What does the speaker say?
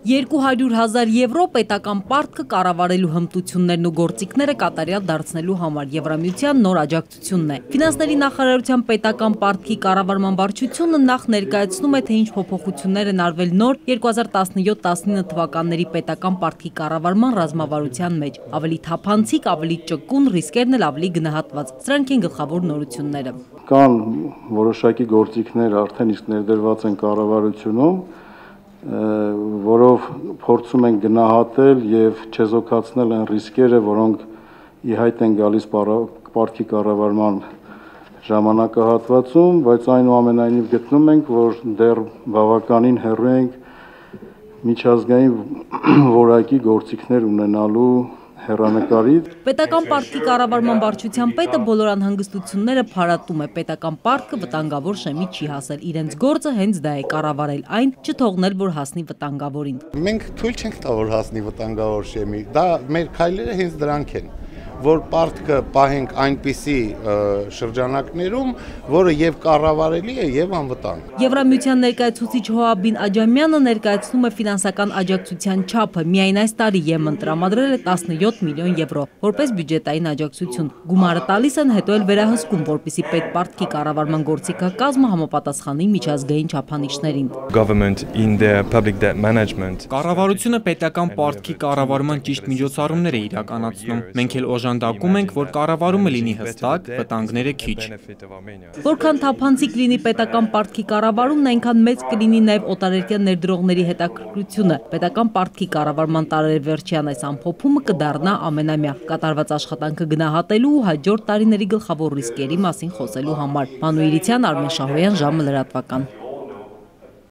200,000 եվրո պետական պարտքը կառավարելու հմտություններն ու գործիքները կատարյալ դարձնելու համար Եվրամիության նոր աջակցությունն է։ Ֆինանսների նախարարության պետական պարտքի կառավարման վարչությունը նախ ներկայացնում է, թե ինչ փոփոխություններ են արվել նոր 2017-19 թվականների պետական պարտքի կառավարման ռազմավարության մեջ։ Ավելի թափանցիկ, ավելի ճկուն, ռիսկերն էլ ավելի գնահատված։ Սրանք են գլխավոր նորությունները։ Կան որոշակի գործիքներ արդեն իսկ ներդրված են կառավարությունում, որով փորձում են գնահատել եւ չեզոքացնել այն ռիսկերը, որոնք ի հայտ են գալիս պարտքի կառավարման ժամանակահատվածում, բայց այնուամենայնիվ գտնում ենք, որ դեռ բավականին հեռու ենք միջազգային որակի գործիքներ ունենալու հեռանկարից։ Պետական պարտքի կառավարման վարչության պետը բոլոր անհանգստությունները փարատում է։ Պետական պարտքը վտանգավոր շեմի չի հասել։ Իրենց գործը հենց դա է կառավարել այն, չթողնել, որ հասնի վտանգավորին։ Մենք թույլ չենք տա, որ հասնի վտանգավոր շեմի։ Դա մեր քայլերը հենց դրանք են, որ պարտքը պահենք այնպիսի շրջանակներում, որը եւ կառավարելի է եւ անվտանգ։ Եվրամիության ներկայացուցիչ Հոաբին Աջամյանը ներկայացնում է ֆինանսական աջակցության չափը։ Միայն այս տարի ԵՄ-ն տրամադրել է 17 միլիոն եվրո, որպես բյուջետային աջակցություն։ Գումարը տալիս են, հետո էլ վերահսկում, որպեսզի պետպարտքի կառավարման գործիքակազմը համապատասխանի միջազգային չափանիշներին։ Կառավարությունը պետական պարտքի կառավարման ճիշտ միջոցառումներ է իրականացնում։ Մենք էլ օժանդակում ենք, որ կառավարումը լինի հստակ, վտանգները քիչ։ Որքան թափանցիկ լինի պետական պարտքի կառավարումն, այնքան մեծ կլինի նաև օտարերկրյա ներդրողների հետաքրքրությունը։ Պետական պարտքի կառավարման տարեվերջյան այս ամփոփումը կդառնա ամենամյա կատարված աշխատանքը գնահատելու ու հաջորդ տարիների գլխավոր ռիսկերի մասին խոսելու համար։ Մանուիլիցյան, Արմեն Շահոյան, ժամը լրատվական։